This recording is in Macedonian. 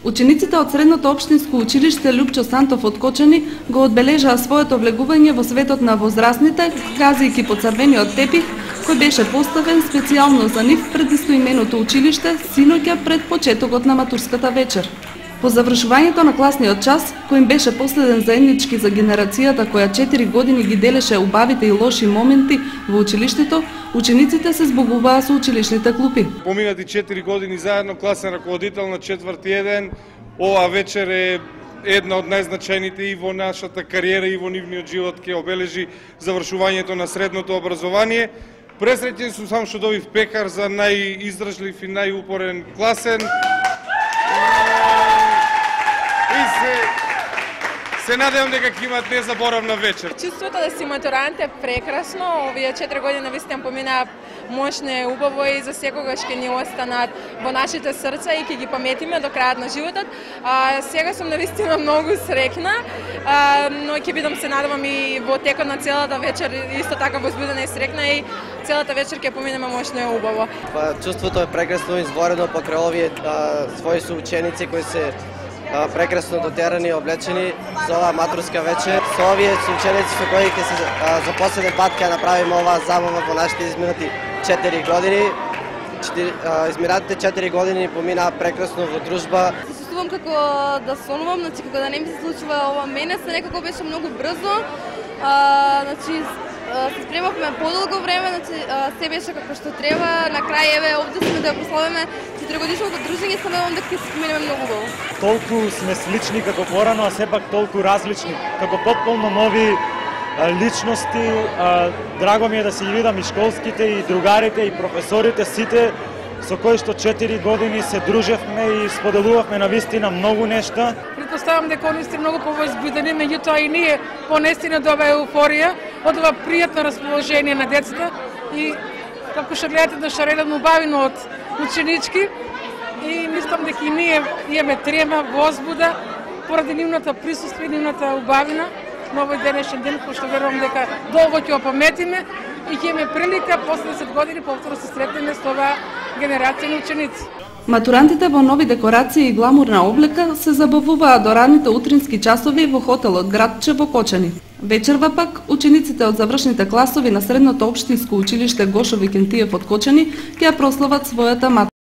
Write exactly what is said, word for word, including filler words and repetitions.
Учениците од средното општинско училиште Лупчо Сантов од Кочани го одбележаа своето влегување во светот на возрастните, газејќи по црвениот тепих, кој беше поставен специјално за нив пред истоименото училиште синоќа пред почетокот на матурската вечер. По завршувањето на класниот час, кој им беше последен заеднички за генерацијата која четири години ги делеше убавите и лоши моменти во училиштето, учениците се збогуваа со училишните клупи. Поминати четири години заедно, класен раководител на четврти еден, ова вечер е една од најзначајните и во нашата кариера и во нивниот живот ќе обележи завршувањето на средното образование. Пресреќен сум сам што добив пекар за најиздржлив и најупорен класен. Се надевам дека ќе имат незаборавна вечер. Чувството да си матурант е прекрасно. Овие четири години навистина поминаа мощно и убаво и за секогаш ќе ни останат во нашите срца и ќе ги паметиме до крајот на животот. А, сега сум навистина многу среќна, а, но ќе бидам се надевам и во текот на целата вечер исто така возбудена и среќна и целата вечер ќе поминеме мощно и убаво. Па, чувството е прекрасно, изворено покрај овие а, своји соученици кои се прекрасно дотерани и облечени за оваа матурска вечер. Со овие соученици со кои ќе се а, за последен пат ќе направиме оваа забава во нашите изминати четири години. Четири, а, изминатите четири години поминаа прекрасно во дружба. Се чувствувам како да сонувам, значи како да не ми се случува ова мене, се некако беше многу брзо. А, значи се спремавме подолго време, значи се беше како што треба. На крај еве овде сме да прославиме четиригодишното дружење, се надевам дека ќе се споменеме многу убаво. Толку сме слични како порано, а сепак толку различни, како потполно нови а, личности. А, драго ми е да си ги видам и школските, и другарите, и професорите, сите со кои што четири години се дружевме и споделувавме навистина многу нешта. Предпоставам дека они сте многу повозбудени, меѓутоа и ние понестина од оваа еуфорија, од ова пријатно расположение на децата и како што гледате да шаредам убавино од ученички и мислам дека и ние имаме трема, возбуда поради нивната присуство и нивната убавина на овој денешен ден, пошто верувам дека долго ќе опаметиме и ќе имаме прилика после десет години повторно се сретнеме со оваа генерација на ученици. Матурантите во нови декорации и гламурна облека се забавуваа до ранните утрински часови во хотелот Градче во Кочани. Вечерва пак, учениците од завршните класови на средното општинско училиште Гошо Викентиев од Кочани ќе ја прослават својата матура.